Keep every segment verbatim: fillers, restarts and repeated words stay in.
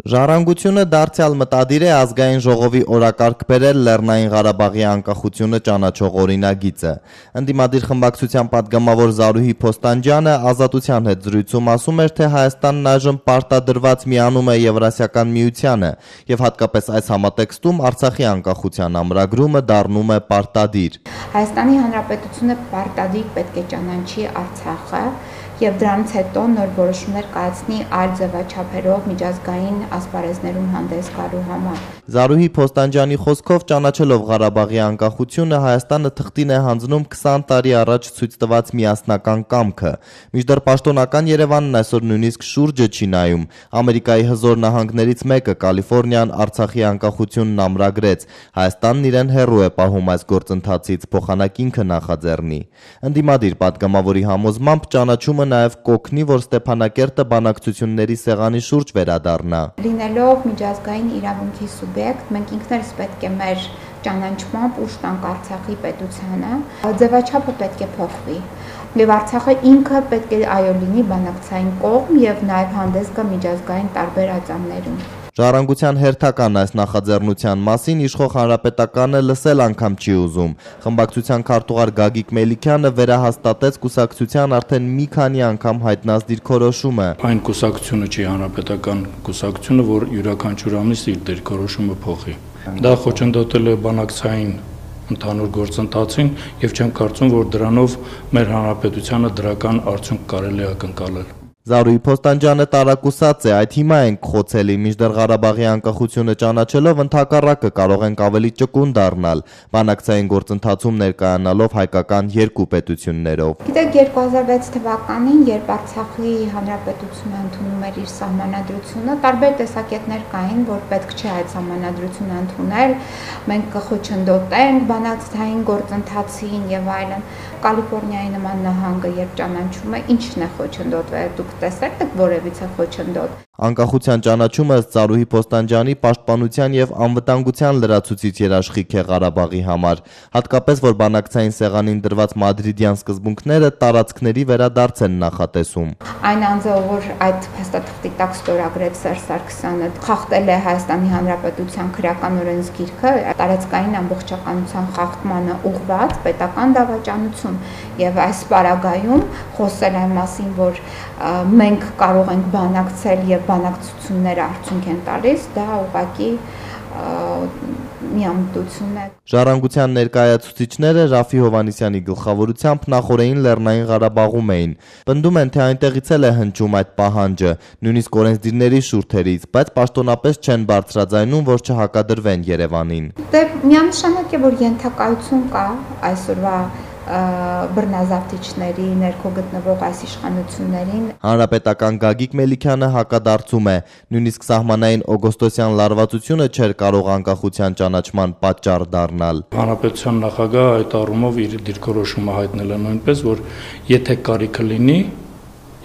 Ժառանգությունը դարձյալ մտադիր է ազգային ժողովի օրակարգ բերել Լեռնային Ղարաբաղի անկախությունը ճանաչող օրինագիծը։ Ընդդիմադիր խմբակցության պատգամավոր Զարուհի Փոստանջյանը Ազատության հետ զրույցում ասում էր, թե Հայաստանն այժմ պարտադրված միանում է Եվրասիական միությանը եւ հատկապես այս համատեքստում Արցախի անկախության ամրագրումը դառնում է պարտադիր։ Հայաստանի Հանրապետությունը պարտադիր պետք է ճանաչի Արցախը եւ դրանից հետո նոր որոշումներ կայացնի այլ ձևաչափերով միջազգային ասպարեզներում հանդես գալու համար։ Զարուհի Փոստանջյանի խոսքով ճանաչելով Ղարաբաղի անկախությունը Հայաստանը թղթին է հանձնում քսան տարի առաջ ցույց տված միասնական կամքը։ Մինչդեռ պաշտոնական Երևանն այսօր նույնիսկ շուրջը չի նայում։ Ամերիկայի հզոր նահանգներից մեկը Կալիֆոռնիան Արցախի անկախությունն ամրագրեց։ Հայաստանն իրեն հեռու է պահում այս գործընթացից, փոխանակ ինքը նախաձեռնի։ Ընդդիմադիր պատգամավորի համոզմամբ ճանաչումը նաև կօգնի, որ Ստեփանակերտը բանակցությունների սեղանի շուրջ վերադառնա։ Լինելով միջազգային իրավունքի սուբյեկտ, մենք ինքներս պետք է մեր ճանաչմամբ ուժ տանք Արցախի պետությանը, ձևաչափը պետք է փոխվի։ Եվ Արցախը ինքը պետք է այո լինի բանակցային կողմ եւ նաև հանդես գա միջազգային տարբեր ածաններում։ Ժառանգության հերթական այս նախաձեռնության մասին իշխող Հանրապետականը լսել անգամ չի ուզում։ Խմբակցության քարտուղար Գագիկ Մելիքյանը վերահաստատեց կուսակցության արդեն մի քանի անգամ հայտնած դիրքորոշումը։ Այն կուսակցությունը չի հանրապետական կուսակցությունը, որ յուրաքանչյուր ամիս իր դիրքորոշումը փոխի։ Դա խոչընդոտել է բանակցային ընդհանուր գործընթացին եւ չեմ կարծում, որ դրանով մեր հանրապետությանը դրական արդյունք կարելի է ակնկալել։ Զարուհի Փոստանջյանը տարակուսած է, այդ հիմա ենք խոցելի, մինչդեռ Ղարաբաղի անկախությունը ճանաչելով ընդհակառակը կարող ենք ավելի ճկուն դառնալ, բանակցային գործընթացում ներկայանալով հայկական երկու պետություններով։ Գիտեք, երկու հազար վեց թվականին, երբ Արցախի Հանրապետությունը ընդունում էր իր սահմանադրությունը, տարբեր տեսակետներ կային, որ պետք չէ այդ սահմանադրությունը ընդունել, մենք կխոչընդոտենք բանակցային գործընթացին եւ այլն։ Կալիֆոռնիայի նման նահանգը երբ ճանաչում է, ինչն է խոչընդոտվել, դուք տեսեք եք որևիցե խոչընդոտ։ Անկախության ճանաչումը ըստ Զարուհի Փոստանջյանի պաշտպանության եւ անվտանգության լրացուցիչ երաշխիք է Ղարաբաղի համար, հատկապես որ բանակցային սեղանին դրված մադրիդյան սկզբունքները տարածքների վերադարձ են նախատեսում։ Այն անձը, որ այդ փաստաթղթի տակ ստորագրեց Սերժ Սարգսյանը, խախտել է Հայաստանի Հանրապետության քրեական օրենսգիրքը, տարածքային ամբողջականության խախտմանը ուղղված պետական դավաճանություն եւ այս պարագայում խոսել այն մասին, որ մենք կարող ենք բանակցել եւ բանակցությունները արդյունք են տալիս, դա ուղղակի միամտություն է։ Ժառանգության ներկայացուցիչները Ռաֆի Հովհաննիսյանի գլխավորությամբ նախորդին Լեռնային Ղարաբաղում էին։ Պնդում են, թե այնտեղից էլ է հնչում այդ պահանջը, նույնիսկ օրենսդիրների շուրթերից, բայց պաշտոնապես չեն բարձրաձայնում, որ չհակադրվեն Երևանին։ Դե միանշանակ է, որ ենթակայություն կա այսօրվա բռնազավթիչների ներքո գտնվող այս իշխանություններին։ Հանրապետական Գագիկ Մելիքյանը հակադարձում է, նույնիսկ սահմանային օգոստոսյան լարվածությունը չէր կարող անկախության ճանաչման պատճառ դառնալ։ Հանրապետության նախագահը այդ առումով իր դիրքորոշումը հայտնել է նույնպես, որ եթե կարիքը լինի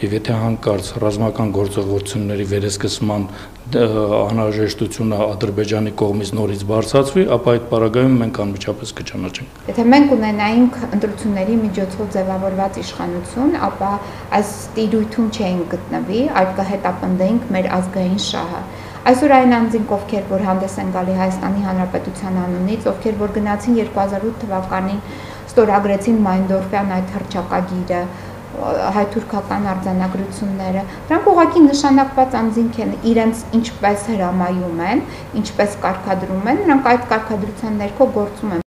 եւ եթե հանկարծ ռազմական գործողությունների վերեսկսման անհրաժեշտությունը Ադրբեջանի կողմից նորից բարձրացվի, ապա այդ պարագայում մենք անմիջապես կճանաչենք։ Եթե մենք ունենայինք ընտրությունների միջոցով ձևավորված իշխանություն, ապա այս տիրույթում չէինք գտնվի, այլ կհետապնդեինք մեր ազգային շահը։ Այսօր այն անձինք, ովքեր որ հանդես են գալի Հայաստանի Հանրապետության անունից, ովքեր որ գնացին երկու հազար ութ թվականին ստորագրեցին Մայնդորֆյան այդ հռչակագիրը, հայ-թուրքական արձանագրությունները, դրանք ուղղակի նշանակված անձինք են, իրենց ինչպես հրամայում են, ինչպես կարգադրում են, նրանք այդ կարգադրության ներքո գործում են։